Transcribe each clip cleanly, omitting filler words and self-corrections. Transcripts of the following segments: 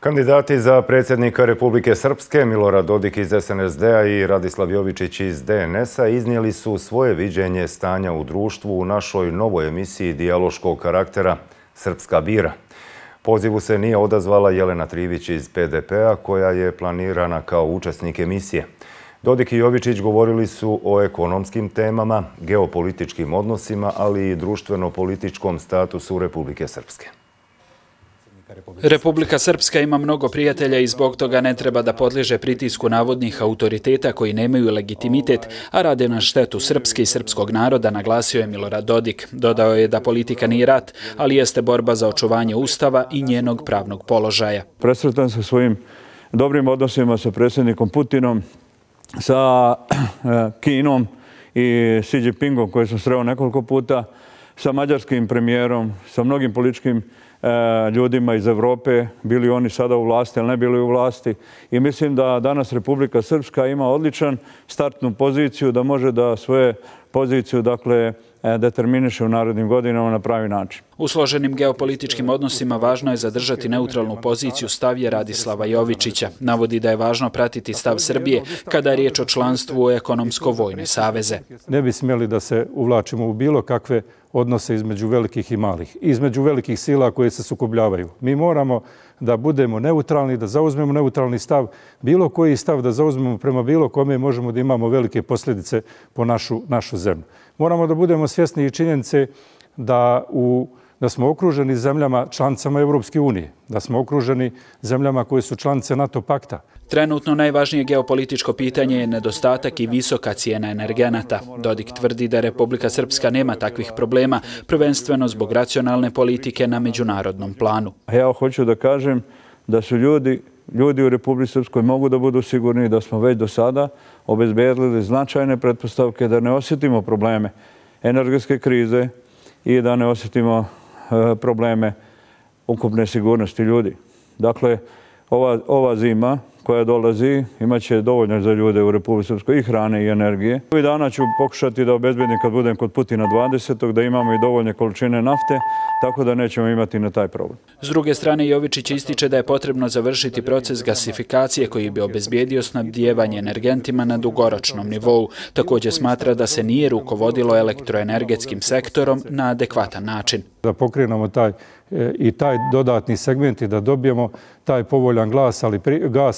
Kandidati za predsjednika Republike Srpske Milorad Dodik iz SNSD-a i Radislav Jovičić iz DNS-a iznijeli su svoje viđenje stanja u društvu u našoj novoj emisiji dijaloškog karaktera Srpska bira. Pozivu se nije odazvala Jelena Trivić iz PDP-a koja je planirana kao učesnik emisije. Dodik i Jovičić govorili su o ekonomskim temama, geopolitičkim odnosima, ali i društveno-političkom statusu Republike Srpske. Republika Srpska ima mnogo prijatelja i zbog toga ne treba da podliježe pritisku navodnih autoriteta koji nemaju legitimitet, a rade na štetu Srpske i srpskog naroda, naglasio je Milorad Dodik. Dodao je da politika nije rat, ali jeste borba za očuvanje Ustava i njenog pravnog položaja. Presretan sa svojim dobrim odnosima sa predsjednikom Putinom, sa Kinom i Xi Jinpingom koji sam sreo nekoliko puta, sa mađarskim premijerom, sa mnogim političkim ljudima iz Evrope, bili oni sada u vlasti ili ne bili u vlasti. I mislim da danas Republika Srpska ima odličan startnu poziciju, da može da svoje poziciju determiniše u narednim godinama na pravi način. U složenim geopolitičkim odnosima važno je zadržati neutralnu poziciju, stav je Radislava Jovičića. Navodi da je važno pratiti stav Srbije kada je riječ o članstvu u ekonomsko-vojne saveze. Ne bi smjeli da se uvlačimo u bilo kakve odnose između velikih i malih, između velikih sila koje se sukobljavaju. Mi moramo da budemo neutralni, da zauzmemo neutralni stav. Bilo koji stav da zauzmemo prema bilo kome možemo da imamo velike posljedice po našu zemlju. Moramo da budemo svjesni i činjenice da smo okruženi zemljama članicama Evropske unije, da smo okruženi zemljama koje su članice NATO pakta. Trenutno najvažnije geopolitičko pitanje je nedostatak i visoka cijena energenata. Dodik tvrdi da Republika Srpska nema takvih problema, prvenstveno zbog racionalne politike na međunarodnom planu. Ja hoću da kažem da su ljudi u Republici Srpskoj mogu da budu sigurni da smo već do sada obezbedili značajne pretpostavke da ne osjetimo probleme energetske krize i da ne osjetimo probleme ukupne sigurnosti ljudi. Dakle, ova zima koja dolazi imaće dovoljno za ljude u Republici Srpskoj i hrane i energije. Ovih dana ću pokušati da obezbedim kad budem kod Putina 20. da imamo i dovoljne količine nafte, tako da nećemo imati na taj problem. S druge strane, Jovičić ističe da je potrebno završiti proces gasifikacije koji bi obezbijedio snabdijevanje energentima na dugoročnom nivou. Također smatra da se nije rukovodilo elektroenergetskim sektorom na adekvatan način. Da pokrenemo taj dodatni segment i da dobijemo taj povoljan gas,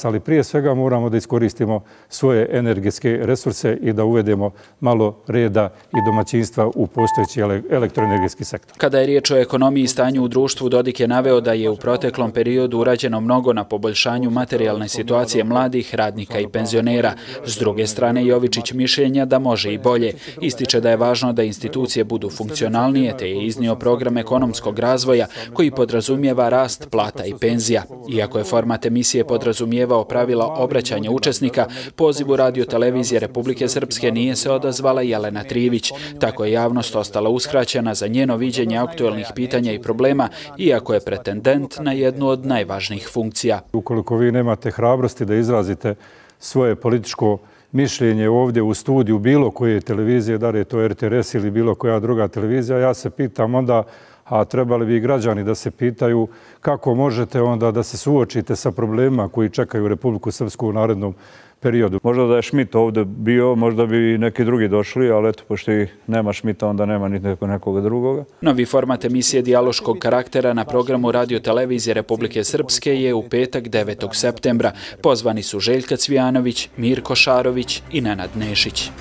ali prije svega moramo da iskoristimo svoje energetske resurse i da uvedemo malo reda i domaćinstva u postojeći elektroenergetski sektor. Kada je riječ o ekonomiji i stanju u društvu, Dodik je naveo da je u proteklom periodu urađeno mnogo na poboljšanju materijalne situacije mladih, radnika i penzionera. S druge strane, Jovičić mišljenja da može i bolje. Ističe da je važno da institucije budu funkcionalnije, te je iznio program ekonomskog razvoja koji podrazumijeva rast plata i penzija. Iako je format emisije podrazumijevao pravila obraćanja učesnika, pozivu Radio-televizije Republike Srpske nije se odazvala Jelena Trivić. Tako je javnost ostala uskraćena za njeno viđenje aktuelnih pitanja i problema, iako je pretendent na jednu od najvažnijih funkcija. Ukoliko vi nemate hrabrosti da izrazite svoje političko mišljenje ovdje u studiju bilo koje televizije, da li je to RTS ili bilo koja druga televizija, ja se pitam onda, a trebali bi i građani da se pitaju kako možete onda da se suočite sa problemima koji čekaju Republiku Srpsku u narednom periodu. Možda da je Schmidt ovdje bio, možda bi neki drugi došli, ali eto, pošto i nema Schmidta, onda nema ni nekoga drugoga. Novi format emisije dijaloškog karaktera na programu Radio-televizije Republike Srpske je u petak 9. septembra. Pozvani su Željka Cvijanović, Mirko Šarović i Nenad Nešić.